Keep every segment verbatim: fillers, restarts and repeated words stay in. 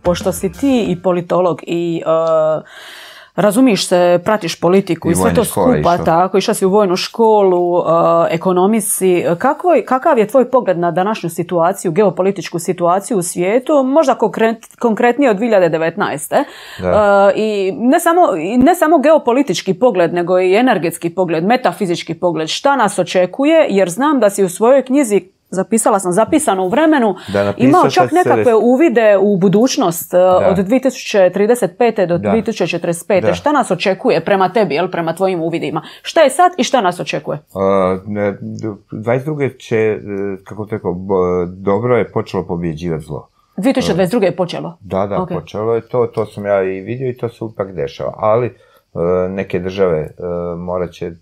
pošto si ti i politolog i uh, razumiš se, pratiš politiku i, i sve to skupa, tako, išla si u vojnu školu, uh, ekonomisi. Kakvoj, kakav je tvoj pogled na današnju situaciju, geopolitičku situaciju u svijetu, možda konkret, konkretnije od dvije hiljade devetnaeste. Uh, I ne samo, ne samo geopolitički pogled, nego i energetski pogled, metafizički pogled. Šta nas očekuje, jer znam da si u svojoj knjizi, zapisala sam, zapisano u vremenu, imao čak nekakve uvide u budućnost da. Od dvije tisuće trideset pete do da. dvije tisuće četrdeset pete. Da. Šta nas očekuje prema tebi, jel, prema tvojim uvidima? Šta je sad i šta nas očekuje? Uh, dvadeset druge će, kako te rekao, dobro je počelo pobjeđivati zlo. dvije tisuće dvadeset druge je počelo? Da, da, okay. Počelo je to, to sam ja i vidio i to se ipak dešava, ali neke države uh, morat će uh,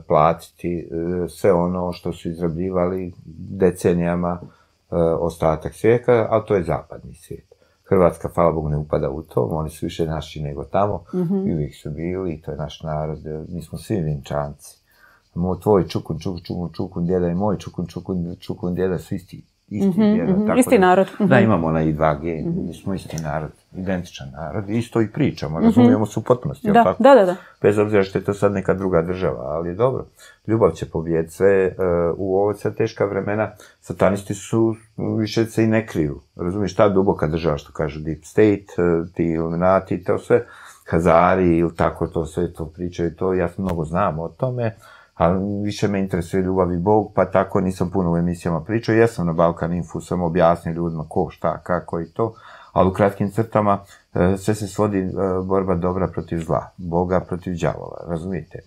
platiti uh, sve ono što su izrabljivali decenijama uh, ostatak svijeta, ali to je zapadni svijet. Hrvatska, hvala Bogu, ne upada u to, oni su više naši nego tamo, mm-hmm. i uvijek su bili, i to je naš narod, mi smo svi Vinčanci. Moj, tvoj čukun, čukun, čukun, čukun djeda i moj čukun, čukun, čukun djeda su isti. Isti, mm-hmm, djeda, mm-hmm. tako isti da, narod. Mm-hmm. Da, imamo onaj dva ge, mm-hmm. mi smo isti narod, identičan narod, isto i pričamo, mm-hmm. razumijemo se u potpunosti, da, tako? Da, da, da. Bez obzira što je to sad neka druga država, ali je dobro. Ljubav će pobijediti sve, uh, u ovo sad teška vremena, satanisti su, više se i ne kriju, razumiješ, ta duboka država, što kažu Deep State, uh, ti Illuminati, to sve, Hazari ili tako, to sve to pričaju, to ja mnogo znam o tome, ali više me interesuje ljubav i Bog, pa tako nisam puno u emisijama pričao. Jesam na Balkan Info, sam objasnio ljudima ko, šta, kako i to, ali u kratkim crtama sve se svodi borba dobra protiv zla, Boga protiv đavola, razumijete?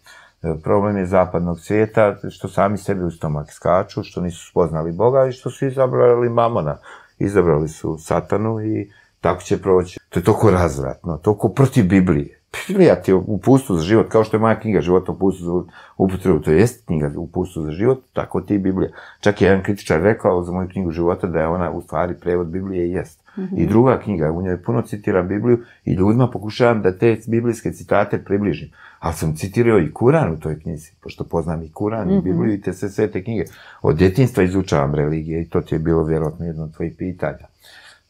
Problem je zapadnog svijeta, što sami sebi u stomak skaču, što nisu spoznali Boga i što su izabrali mamona. Izabrali su satanu i tako će proći. To je toliko razvratno, toliko protiv Biblije. Biblija ti je uputstvo za život, kao što je moja knjiga Života uputstvo za upotrebu, to jest knjiga uputstvo za život, tako ti Biblija. Čak je jedan kritičar rekao za moju knjigu života da je ona u stvari prevod Biblije i jest. Mm-hmm. I druga knjiga, u njoj puno citira Bibliju i ljudima pokušavam da te biblijske citate približim. Ali sam citirao i Kuran u toj knjizi, pošto poznam i Kuran mm-hmm. i Bibliju i te sve, sve te knjige. Od djetinjstva izučavam religije i to ti je bilo vjerojatno jedno od tvojih pitanja.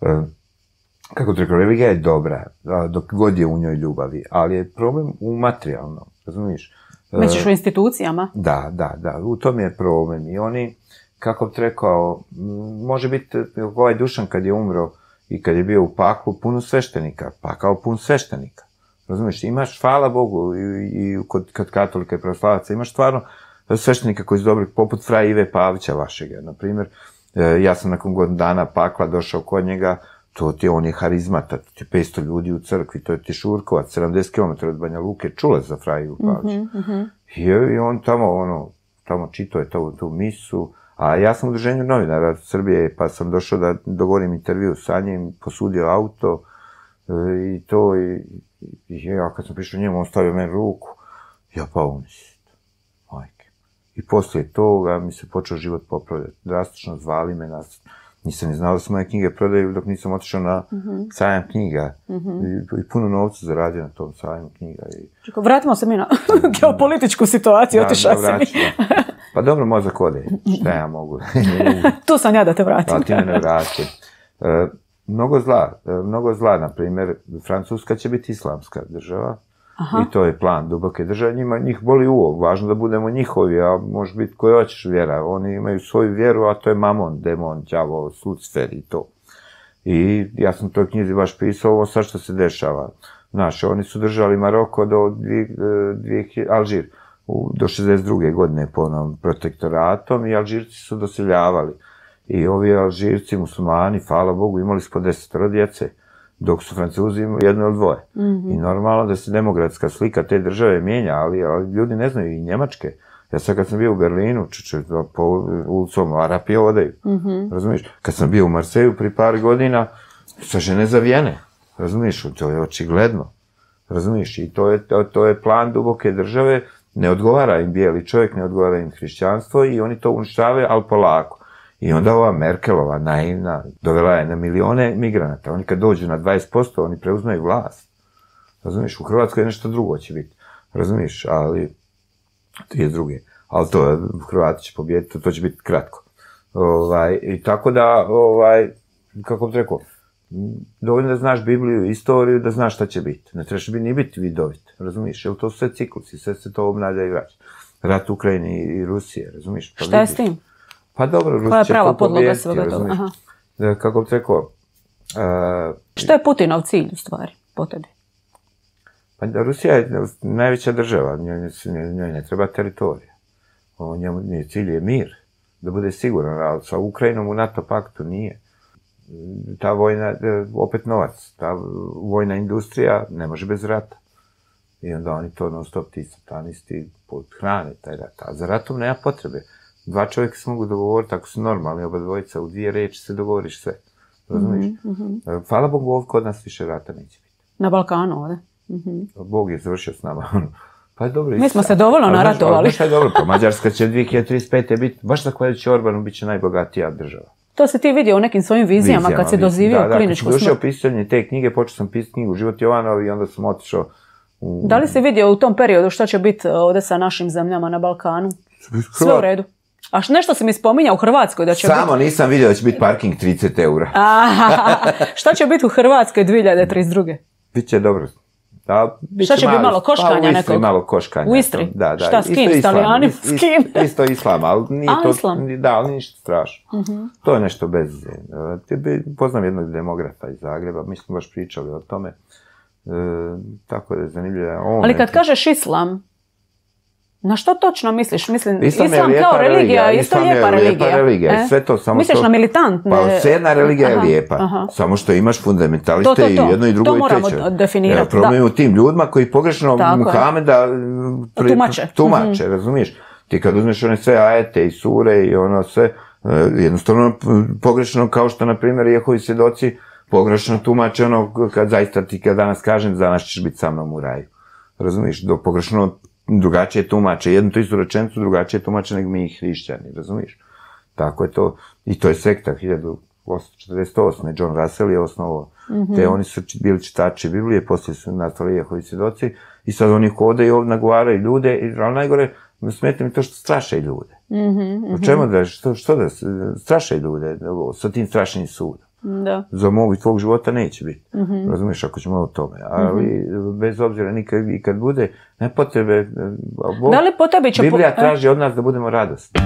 Uh, Kako ti rekao, religija je dobra, dok god je u njoj ljubavi, ali je problem u materijalnom, razumiješ? Misliš u institucijama? Da, da, da, u tom je problem. I oni, kako ti rekao, može biti ovaj Dušan kad je umro i kad je bio u paklu, puno sveštenika, pa kao pun sveštenika. Razumiješ, imaš, hvala Bogu, i, i kod, kod katolika i pravoslavaca, imaš stvarno sveštenika koji su dobri, poput fra Ive Pavića vašega. Naprimjer, ja sam nakon godinu dana pakla došao kod njega, to ti je, on je harizmata, to ti je petsto ljudi u crkvi, to je ti Šurkovac, sedamdeset kilometara od Banja Luke, čule za fra Ivu Pavića. Mm-hmm. I, I on tamo, ono, tamo čitao je to, tu misu, a ja sam u udruženju novinara Srbije, pa sam došao da dogovorim intervju sa njim, posudio auto e, i to, i, i ja kad sam prišao njemu, on stavio meni ruku, ja pa umislit, majke. I poslije toga mi se počeo život popravljati, drastično zvali me nas. Nisam ni znao da se moje knjige prodaju dok nisam otišao na mm-hmm. sajam knjiga. Mm-hmm. I, I puno novca zaradio na tom sajam knjiga. I... Čekaj, vratimo se mi na geopolitičku situaciju, otišao si mi. Pa dobro, mozak ode. Šta ja mogu? Tu sam ja da te vratim. Pa ti me ne vratim. E, mnogo zla. E, mnogo zla, na primjer, Francuska će biti islamska država. Aha. I to je plan duboke države. Njima, njih boli uvo. Važno da budemo njihovi, a može biti koji hoćeš vjera. Oni imaju svoju vjeru, a to je mamon, demon, đavo, Lucifer i to. I ja sam u toj knjizi baš pisao ovo sad što se dešava. Znaš, oni su držali Maroko do dvije, dvije, Alžir u, do šezdeset druge godine po onom protektoratom i Alžirci su doseljavali. I ovi Alžirci, muslimani, hvala Bogu, imali su po desetoro djece. Dok su Francuzi imali jedno ili dvoje. Mm-hmm. I normalno da se demografska slika te države mijenja, ali, ali ljudi ne znaju i Njemačke. Ja sad kad sam bio u Berlinu, čuče, po ulicom Arapi odaju. Mm-hmm. Razumiješ? Kad sam bio u Marseju pri par godina, sa žene zavijene. Razumiješ? To je očigledno. Razumiješ? I to je, to, to je plan duboke države. Ne odgovara im bijeli čovjek, ne odgovara im hrišćanstvo i oni to uništavaju, ali polako. I onda ova Merkelova, naivna, dovela je na milione migranata. Oni kad dođu na dvadeset posto, oni preuzmaju vlast. Razumiješ, u Hrvatskoj nešto drugo će biti. Razumiješ, ali trideset druge. Ali to, Hrvati će pobijediti, to će biti kratko. Ovaj, i tako da, ovaj, kako bih rekao, Dovoljno da znaš Bibliju i istoriju, da znaš šta će biti. Ne trebaš bi ni biti vidovit, razumiješ? Jer to su sve ciklusi, sve se to obnavlja i vraća. Rat u Ukrajini i Rusije, razumiješ? Pa šta je s tim? Pa dobro, Rusija koja je prava podloga svega toga? Kako bi rekao... Uh, šta je Putinov cilj u stvari, po tebi? Pa Rusija je najveća država, njoj, njoj ne treba teritorija. Njemu cilj je mir, da bude siguran, ali sa Ukrajinom u NATO paktu nije. Ta vojna, opet novac, ta vojna industrija ne može bez rata. I onda oni to non stop, ti satanisti, hrane taj rat. A za ratom nema potrebe. Dva čovjeka se mogu dogovoriti, ako su normalni, oba dvojica, u dvije reči se dogovoriš sve. Razumiješ? Mm-hmm. Hvala Bogu, ovdje kod nas više rata neće biti. Na Balkanu ovdje? Mm-hmm. Bog je završio s nama. Pa je dobro. Mi smo se dovoljno naratovali. Znaš šta je dobro, pa Mađarska će dvije hiljade trideset pete biti, baš zahvaljujući Orbanu, bit će najbogatija država. To se ti vidio u nekim svojim vizijama, vizijama kad si dozivio da, kliničku smrt. Da, kad sam došao pisanje te knjige, počeo sam pisati knjigu Život Jovanov i onda sam otišao u... Da li si vidio u tom periodu šta će biti ovdje sa našim zemljama na Balkanu? Sve u redu. A nešto si mi spominjao u Hrvatskoj da će Samo biti... nisam vidio da će biti parking trideset eura. Šta će biti u Hrvatskoj dvije hiljade trideset druge? Biće dobro. Da, šta će biti malo koškanja pa, u nekog? Malo koškanja. U Istri? Da, da. Šta, s kim? S Talijanim? S kim? Isto islam, ali nije A, to... islam? Da, ali ništa strašno. Uh-huh. To je nešto bez... Poznam jednog demografa iz Zagreba, mi smo baš pričali o tome. E, tako da je zanimljivo. On ali kad neki... kažeš islam, na što točno misliš? Mislim, islam, islam kao religija, isto je lijepa religija. Lijepa religija. E? Sve to, samo misliš to... na militantne? Pa jedna religija je lijepa. Aha. Samo što imaš fundamentaliste to, to, to. i jedno i drugo i treće. To moramo definirati. Ja, problem u tim ljudima koji pogrešno tako Muhameda pri... tumače. Tumače, mm-hmm. razumiješ? Ti kad uzmeš one sve ajete i sure i ono sve, jednostavno pogrešno, kao što, na primjer, Jehovi svjedoci pogrešno tumače ono kad zaista ti kad danas kažem, danas ćeš biti sa mnom u raju. Razumiješ? Do pogrešno drugačije tumače, jednu tu istu rečenicu drugačije tumače nego mi hrišćani, razumiješ? Tako je to, i to je sekta, hiljadu osamsto četrdeset osme. John Russell je osnovao, mm-hmm. te oni su bili čitači Biblije, poslije su nastali Jehovi svjedoci, i sad oni hode i ovdje nagovaraju ljude, ali najgore, smeta mi to što straše ljude. Mm-hmm. O čemu da, što, što da straše ljude sa tim strašnim sudom? Da. Za mog i tvog života neće biti. Mm-hmm. Razumiješ, ako ćemo o tome. Ali mm-hmm. bez obzira nikad i kad bude, ne potrebe... Bog, da li po tebi će... Biblija traži od nas da budemo radosni.